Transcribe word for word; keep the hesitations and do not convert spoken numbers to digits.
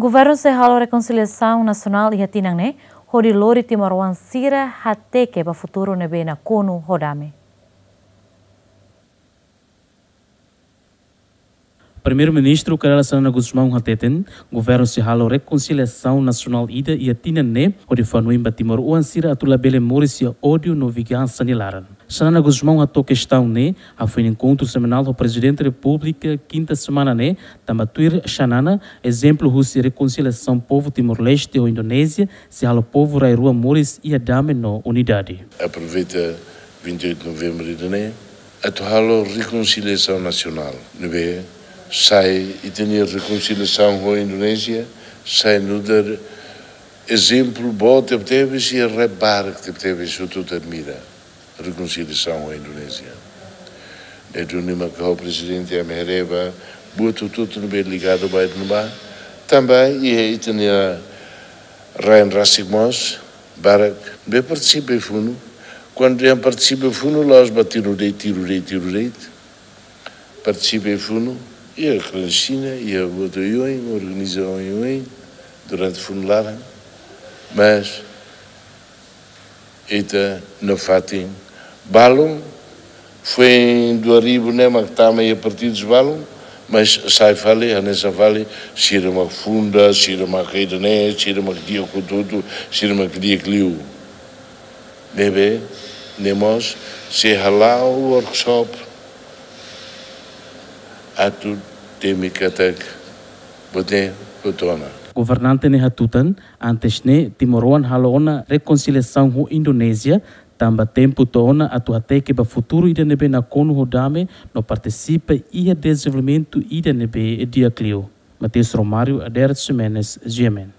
Governu sei halo rekonsiliasaun nasionál iha tinan ne'e, hodi lori timoroan sira hateke ba futuru ne'ebé nakonu ho dame. Primeiru-Ministru Kay Rala Xanana Gusmão hateten, governu sei halo rekonsiliasaun nasionál ida iha tinan ne'e, hodi fó hanoin ba timoroan sira atu labele moris iha ódiu no vingansa nia laran. Xanana Gusmão hato'o kestaun ne'e hafoin enkontru semanál ho Prezidente Repúblika kinta semana ne'e, tanba tuir Xanana, ezemplu husi rekonsiliasaun povu Timor-Leste ho Indonézia sei halo povu rai-rua moris iha dame no unidade. Aproveita vinte e oito de novembro ida-ne'e atu halo rekonsiliasaun nasionál. Ne'ebé sai ita-nia rekonsiliasaun ho Indonézia, sai nu'udar ezemplu boot tebetebes, i rebarak tebetebes, hotu-hotu admira rekonsiliasaun ho Indonézia. Ne'e duni mak ha'u, Prezidente, ami haree ba buat hotu-hotu ne'ebé ligadu ba ida-ne'ebá, tanba iha ita-nia rain rasik mós barak ne'ebé partisipa iha funu. Kuandu dehan partisipa iha funu, la'ós ba tiru de'it, tiru de'it, tiru de'it. Partisipa iha funu, iha klandestina, iha buat oioin, organiza oioin durante funu laran. Mas ita nafatin balun, foin dua ribu ne'e mak tama iha partidus balun, mas sai fali, hanesan fali, sira mak funda, sira mak ida-ne'e, sira mak di'ak hotu-hotu, sira mak di'ak liu. Ne'ebé, ne'e mós sei hala'o workshop atu temi katak buat ne'e hotu ona. Governante ne'e hatutan, antes ne'e timoroan halo ona rekonsiliasaun ho Indonézia, tanba tempu to'o ona atu hateke ba futuru ida ne'ebé nakonu ho dame no partisipa iha dezenvolvimentu ida ne'ebé di'ak liu. Mateus Romário, Adérito Ximenes, G M N.